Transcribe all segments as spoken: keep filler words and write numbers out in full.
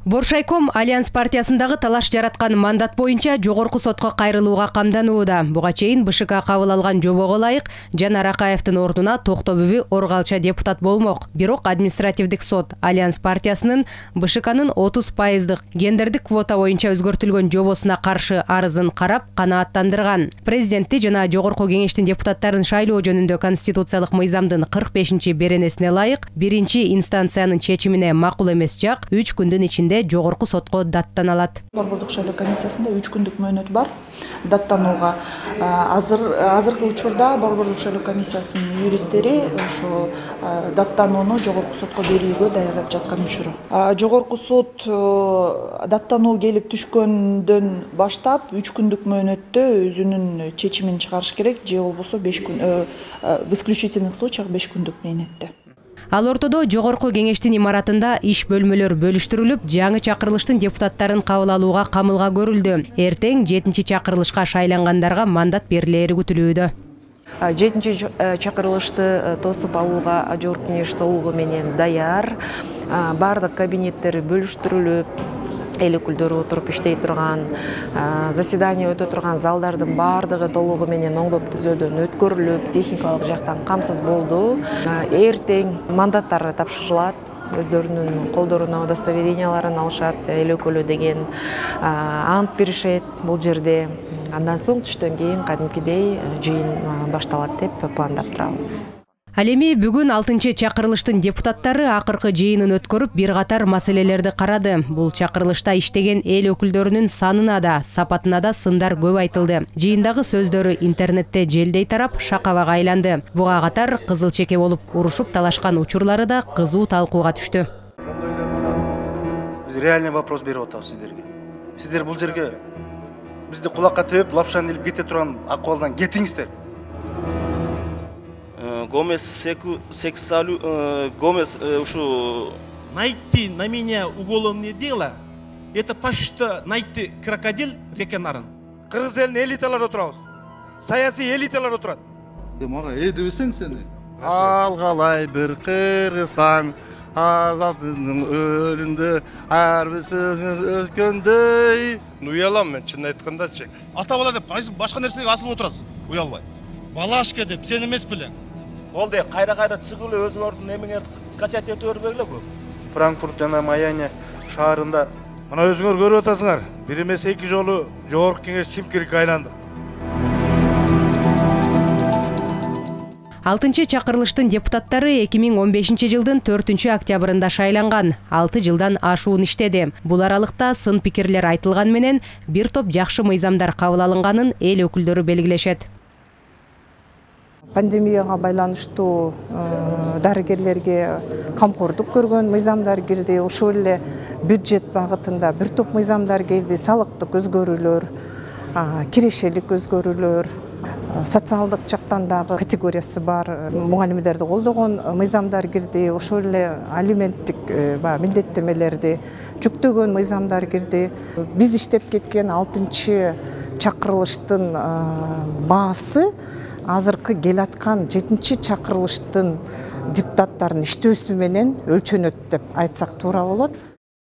Боршайком Альянс партиясындагы талаш жараткан мандат боюнча жогорку сотко кайрылууга камданууда. Буга чейин БШК кабыл алган жобого ылайык Жан Аракаевдин ордуна Токтобүбү Оргалча депутат болмок. Бирок административдик сот Альянс партиясынын БШКнын отуз пайыздык гендердик квота боюнча өзгөртүлгөн жобосуна каршы арызын карап канааттандырган. Президентти жана жогорку кеңештин депутаттарын шайлоо жөнүндө конституциялык мыйзамдын кырк бешинчи беренесине ылайык биринчи инстанциянын чечимине макул эмес жак үч күндүн ичинде жогорку сотко даттаналат. Борбордук шайлоо комиссиясында үч күндүк мөөнөт бар даттанууга. Азыр азыркы учурда Борбордук шайлоо комиссиясынын юристтери ошо даттанууну жогорку сотко берүүгө даярдап жаткан учуру. Жогорку сот даттануу келип түшкөндөн баштап үч күндүк мөөнөттө өзүнүн чечимин чыгарыш керек, же болбосо беш күн в исключительных случаях беш күндүк мөөнөттө. Ал ортодо жогорку кеңештин имаратында иш бөлмөлөр бөлүштүрүлүп, жаңы чакырылыштын депутаттарын кабыл алууга камылга көрүлдү. Эртең жетинчи чакырылышка шайлангандарга мандат берилери күтүлүүдө. жетинчи чакырылышты тосуп алууга жогорку кеңеш толугу менен даяр. Бардык кабинеттер бөлүштүрүлүп, эл өкүлдөрү отуруп иштей турган, заседание өтө турган залдардын баардыгы толугу менен оңдоп түзөөдөн өткөрүлүп, техникалык жактан камсыз болду. Эртең мандаттар тапшырылат, өздөрүнүн колдоруна удостоверенияларын алышат, эл өкүлү деген ант беришет бул жерде. Андан соң түштөн кийин кадимкидей жыйын башталат деп пландап турабыз. Ал эми бүгүн алтынчы чакырылыштын депутаттары акыркы жыйынын өткөрүп, бир катар маселелерди карады. Бул чакырылышта иштеген эл өкүлдөрүнүн санына да, сапатына да сындар көп айтылды. Жыйындагы сөздөрү интернетте желдей тарап, шакабага айланды. Буга катар кызыл чеке болуп урушуп талашкан учурлары да кызуу талкууга түштү. Биз реальный вопрос берип атабыз сиздерге. Сиздер бул жерге бизди кулакка тебип, лапшан илип кете турган акыбалдан кетиңиздер. Гомес сексуалю Гомес ушу найти на меня уголовное дело, это почти что найти крокодил реке Нарын. Кыргыз элинин элиталары отурабыз. Саясий элиталар отурат. Мага э дебесең сени. Алгалай бир кыргызстан азаттын өлүндө ар бир сөзүн өткөндөй. Уялам мен чын айткандачы. Ата бала деп башка нерсеге асылып отурасыз. Уялбай. Балашка деп сен эмес белең. Болду, кайра-кайра чыгып эле өзүңөрдүн эмеңер качат этип бербегиле көп. Франкфурт жана Майами шаарында мына өзүңөр көрүп атасыңар. Бир эмес эки жолу жогорку кеңеш чимкирикке айланды. алтынчы чакырылыштын депутаттары эки миң он бешинчи жылдын төртүнчү октябрында шайланган. алты жылдан ашуун иштеди. Бул аралыкта сын пикирлер айтылган менен бир топ жакшы мыйзамдар кабыл алынганын эл өкүлдөрү белгилешет. Пандемияга байланыштуу дарыгерлерге камкордук көргөн мыйзамдар кирди. Ошол эле бюджет багытында бир топ мыйзамдар кирди. Салыктык өзгөрүүлөр, кирешелик өзгөрүүлөр, социалдык жактан дагы категориясы бар мугалимдерди колдогон мыйзамдар кирди. Ошол эле алименттик милдеттемелерди жүктөгөн мыйзамдар кирди. Биз иштеп кеткен алтынчы чакырылыштын баасы азыркы келаткан жетинчи чакырылыштын депутаттарынын иштөөсү менен өлчөнөт деп айтсак туура болот.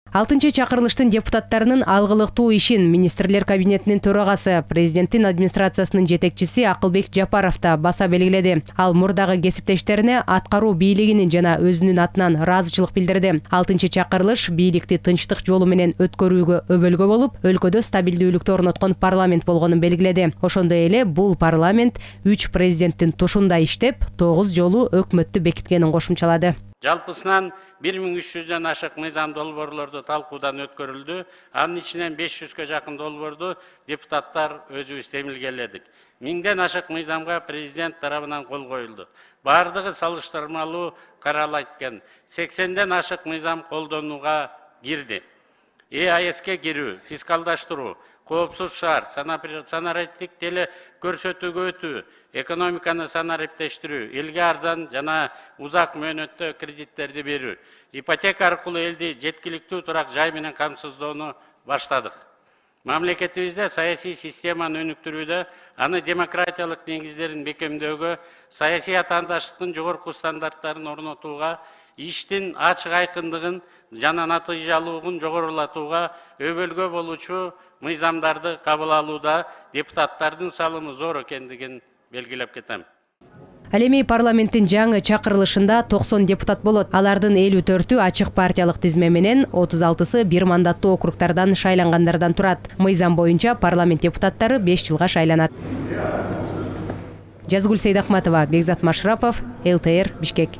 алтынчы чакырылыштын депутаттарынын алгылыктуу ишин министрлер кабинетинин төрагасы, президенттин администрациясынын жетекчиси Акылбек Жапаров да баса белгиледи. Ал мурдагы кесиптештерине аткаруу бийлигинин жана өзүнүн атынан ыраазычылык билдирди. алтынчы чакырылыш бийликти тынчтык жолу менен өткөрүүгө өбөлгө болуп, өлкөдө стабилдүүлүктү орноткон парламент болгонун белгиледи. Ошондой эле бул парламент үч президенттин тушунда иштеп, тогуз жолу өкмөттү бекиткенин кошумчалады. Жалпысынан бир миң үч жүздөн ашык мыйзам долбоорлорду талкуудан өткөрүлдү. Анын ичинен беш жүзгө жакын долбоорду депутаттар өзүбүз темилгеледик. Миңден ашык мыйзамга президент тарабынан кол коюлду. Бардыгы салыштырмалуу каралат экен. сексенден ашык мыйзам колдонууга кирди. Э А С'ке кирүү, фискалдаштыруу, коопсуз шаар, санариптик теле көрсөтүүгө өтүү, экономиканы санариптештирүү, элге арзан жана узак мөөнөттө кредиттерди берүү, ипотека аркылуу элди жеткиликтүү турак жай менен камсыздоону баштадык. Мамлекетибизде саясий системаны өнүктүрүүдө, аны демократиялык негиздерин бекемдөөгө, саясий атаандаштыктын жогорку стандарттарын орнотууга, иштин ачык айкындыгын, жана натыйжалуулугун жогорулатууга өбөлгө болуучу мыйзамдарды кабыл алууда депутаттардын салымы зор экендигин белгилеп кетем. Ал эми парламенттин жаңы чакырылышында токсон депутат болот. Алардын элүү төртү ачык партиялык тизме менен, отуз алтысы бир мандаттуу округдардан шайлангандардан турат. Мыйзам боюнча парламент депутаттары беш жылга шайланат. Жазгүл Сейдахматова, Бекзат Машрапов, эл тэ эр, Бишкек.